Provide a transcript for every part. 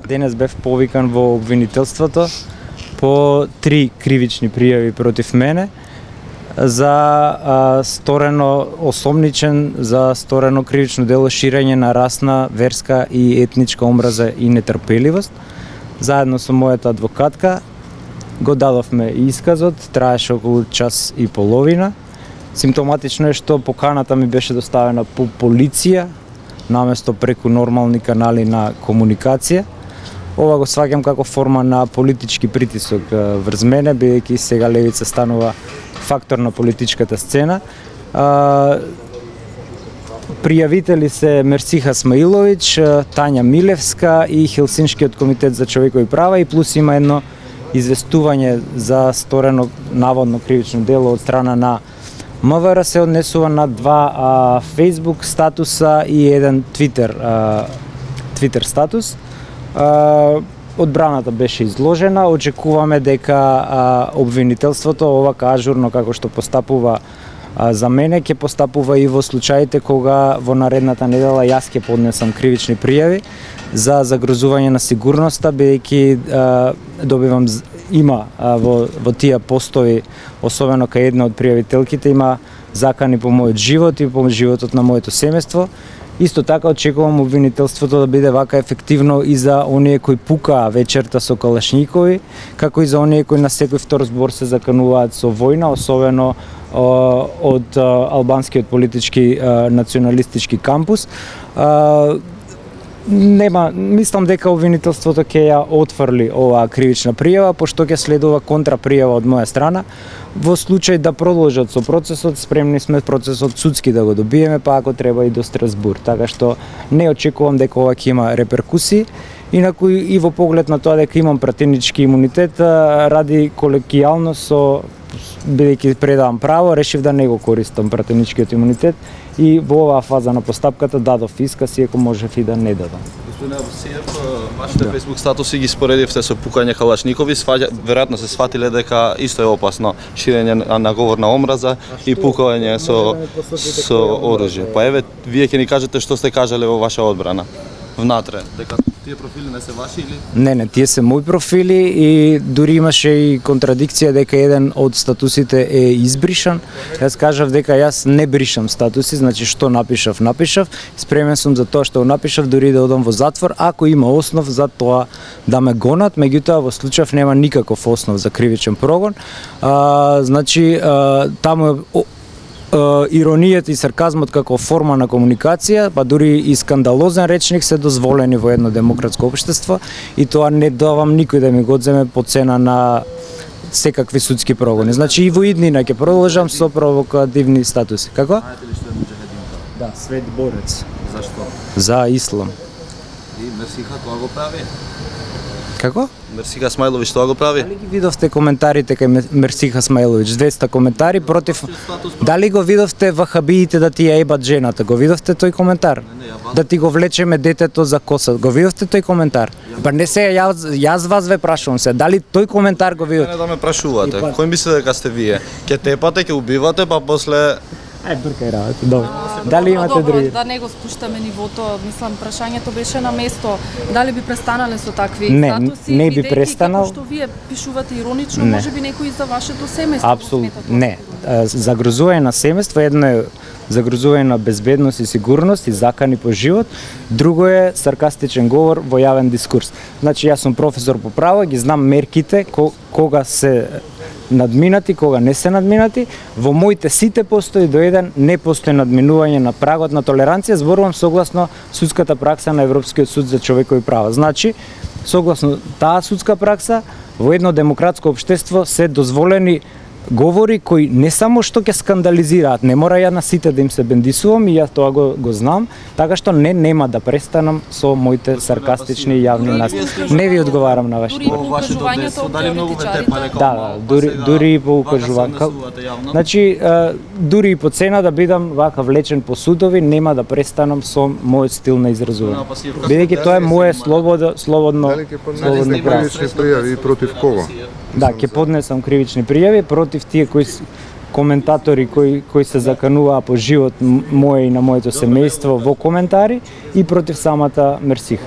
Денес бев повикан во обвинителството по 3 кривични пријави против мене за сторено осомничен, за сторено кривично дело ширење на расна, верска и етничка омраза и нетрпеливост. Заедно со мојата адвокатка го дадовме исказот, траеше околу час и половина. Симптоматично е што поканата ми беше доставена по полиција, наместо преку нормални канали на комуникација. Ова го сваќам како форма на политички притисок врз мене, бидејќи сега левица станува фактор на политичката сцена. Пријавители се Мерсиха Смаилович, Тања Милевска и Хелсиншкиот комитет за човекови права, и плюс има едно известување за сторено наводно кривично дело од страна на МВР, се однесува на 2 Facebook статуса и еден Twitter статус. Одбраната беше изложена, очекуваме дека обвинителството овака ажурно како што постапува за мене, ќе постапува и во случаите кога во наредната недела јас ќе поднесам кривични пријави за загрозување на сигурноста, бидејќи добивам има во тие постови, особено кај една од пријавителките, има закани по мојот живот и по животот на моето семејство. Исто така очекувам обвинителството да биде вака ефективно и за оние кои пукаа вечерта со калашникови, како и за оние кои на секој втор збор се закануваат со војна, особено од албанскиот политички националистички кампус. Мислам дека обвинителството ќе ја отфрли оваа кривична пријава, пошто ќе следува контрапријава од моја страна. Во случај да продолжат со процесот, спремни сме процесот судски да го добиеме, па ако треба и до Страсбург. Така што не очекувам дека ова ќе има реперкусии. Инаку и во поглед на тоа дека имам пратенички имунитет, ради колегијалност, бидејќи предавам право, решив да не го користам пратеничкиот имунитет и во оваа фаза на постапката дадов исказ, иако можев и да не дадам. Господин Абусиев, вашите Facebook статуси ги споредивте со пукање калашникови, веројатно се сватиле дека исто е опасно ширење на говор на омраза и пукање со оружје. Па еве, вие ќе ни кажете што сте кажале во ваша одбрана внатре, дека тие профили не се ваши или? Не, тие се мои профили и дури имаше и контрадикција дека еден од статусите е избришан. Јас кажав дека јас не бришам статуси, значи што напишав. Спремен сум за тоа што напишав, дури да одам во затвор, ако има основ за тоа да ме гонат, меѓутоа во случај нема никаков основ за кривичен прогон. Значи, таму иронијата и сарказмот како форма на комуникација, па дури и скандалозен речник се дозволени во едно демократско општество и тоа не давам никој да ми го одземе по цена на секакви судски прогони. Значи и во иднина ќе продолжам со провокативни статуси. Како? Знаете ли што е муџахединка? Да, свет борец. Зашто? За ислам. И Мерсиха тоа го прави? Како? Мерсиха Смаилович тоа го прави? Дали ги видовте коментарите кај Мерсиха Смаилович? 200 коментари против... Дали го видовте вахабиите да ти ја ебат жената? Го видовте тој коментар? Да ти го влечеме детето за коса? Го видовте тој коментар? Па не се, јас вас ве прашувам се. Дали тој коментар го видовте? Не да ме прашувате. Кој мисли дека сте вие? Ке тепате, ке убивате, па после... Бркај работа, добро. Дали имате други? Да не го спуштаме нивото, мислам, прашањето беше на место. Дали би престанале со такви статуси? Не би престанал. Како што вие пишувате иронично, можеби некој за вашето семејство. Апсолутно, не. Загрозување на семејство едно е загрозување на безбедност и сигурност и закани по живот, друго е саркастичен говор во јавен дискурс. Значи, јас сум професор по право, ги знам мерките кога се надминати, кога не се надминати. Во моите сите постои до еден не постои надминување на прагот на толеранција, зборувам согласно судската пракса на Европскиот суд за човекови права. Значи, согласно таа судска пракса, во едно демократско општество се дозволени говори кои не само што ќе скандализираат, не мора ја на сите да им се бендисувам и јас тоа го знам, така што нема да престанам со моите саркастични јавни настапи. Не ви одговарам на вашите. Да, дури и по укажување. Значи, дури и по цена да бидам вака влечен по судови, нема да престанам со мојот стил на изразување. Бидејќи тоа е моје слободно кривични пријави против кого? Да, ќе поднесам кривични пријави против тие кои коментатори кои се закануваа по живот мој и на моето семејство во коментари и против самата Мерсих.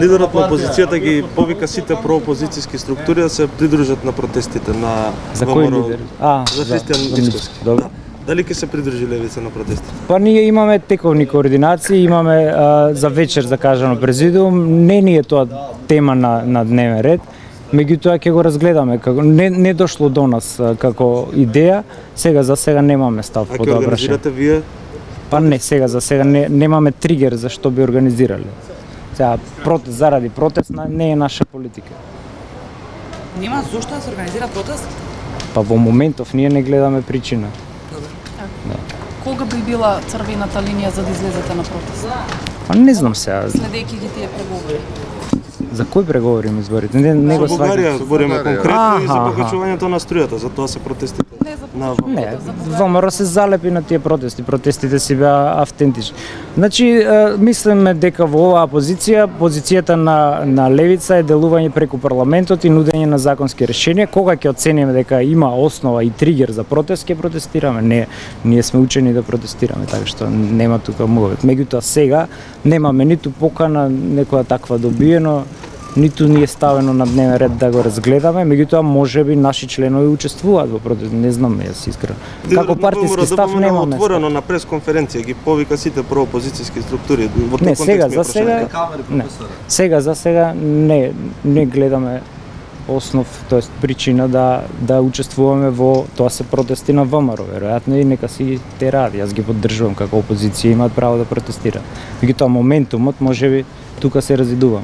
Лидерот на опозицијата ги повика сите проопозицијски структури да се придружат на протестите на За кој лидер? За Христијан Мицкоски. Добро. Дали ќе се придружи левица на протестите? Па ние имаме тековни координации, имаме за вечер закажано президиум, не ни е тоа тема на дневен ред, меѓутоа ќе го разгледаме, како не дошло до нас како идеја, за сега немаме став по тоа прашање. А ќе организирате вие? Па не, за сега немаме тригер за што би организирале. Сега заради протест не е наша политика. Нема зошто да се организира протест? Па во моментов ние не гледаме причина. Кога би била црвената линија за да излезете на протест? Па не знам сега. Следејќи ги тие преговори. За кој преговорим изборите? Не го За Бугарија сваќам. збориме конкретно и за покачувањето на струјата, за тоа се протестите. Не, ВМРО се залепи на тие протести. Протестите си беа автентични. Значи, мислиме дека во оваа позицијата на левица е делување преку парламентот и нудење на законски решенија. Кога ќе оцениме дека има основа и тригер за протест, ќе протестираме. Ние сме учени да протестираме, така што нема тука мовет. Меѓутоа сега немаме ниту покана некоја таква добиено, ниту ни е ставено на дневен ред да го разгледаме, меѓутоа можеби наши членови учествуваат во протест, не знам, јас искрено. Како партиски став немаме. Отворено на пресконференција ги повика сите проопозицијски структури во тој Не, контекст. за сега не гледаме основ, тоест причина да учествуваме во тоа се протести на ВМРО, веројатно и нека си те ради. Јас ги поддржувам како опозиција, имаат право да протестираат. Меѓутоа моментумот можеби тука се разидувам.